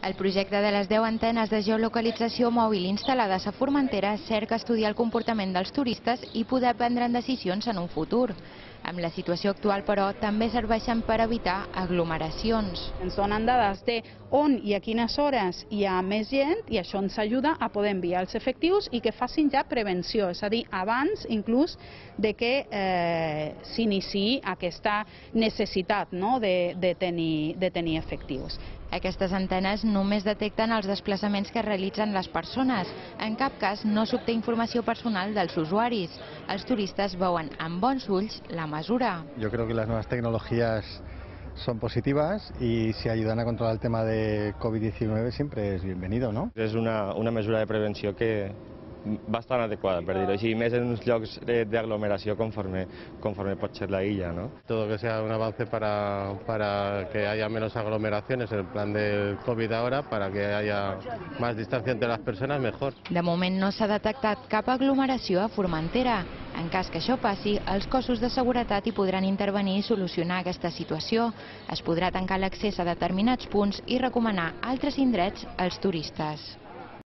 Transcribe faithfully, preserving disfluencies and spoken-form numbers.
El projecte de les deu antenes de geolocalització mòbil instal·lades a Formentera cerca estudiar el comportament dels turistes i poder prendre decisions en un futur. Amb la situació actual, però, també serveixen per evitar aglomeracions. Ens donen dades de on i a quines hores hi ha més gent i això ens ajuda a poder enviar els efectius i que facin ja prevenció, és a dir, abans inclús de que eh, s'iniciï aquesta necessitat, no?, de, de, tenir, de tenir efectius. Aquestes antenes només detecten els desplaçaments que realitzen les persones. En cap cas no s'obté informació personal dels usuaris. Els turistes veuen amb bons ulls la mesura. Yo creo que las nuevas tecnologías son positivas y si ayudan a controlar el tema de COVID diecinueve siempre es bienvenido, ¿no? És una, una mesura de prevenció que bastant adequada, per dir-ho així, més en uns llocs d'aglomeració conforme, conforme pot ser la illa, ¿no? Todo que sea un avance para, para que haya menos aglomeraciones en el plan del COVID ahora, para que haya más distancia entre las personas, mejor. De moment no s'ha detectat cap aglomeració a Formentera. En cas que això passi, els cossos de seguretat hi podran intervenir i solucionar aquesta situació. Es podrà tancar l'accés a determinats punts i recomanar altres indrets als turistes.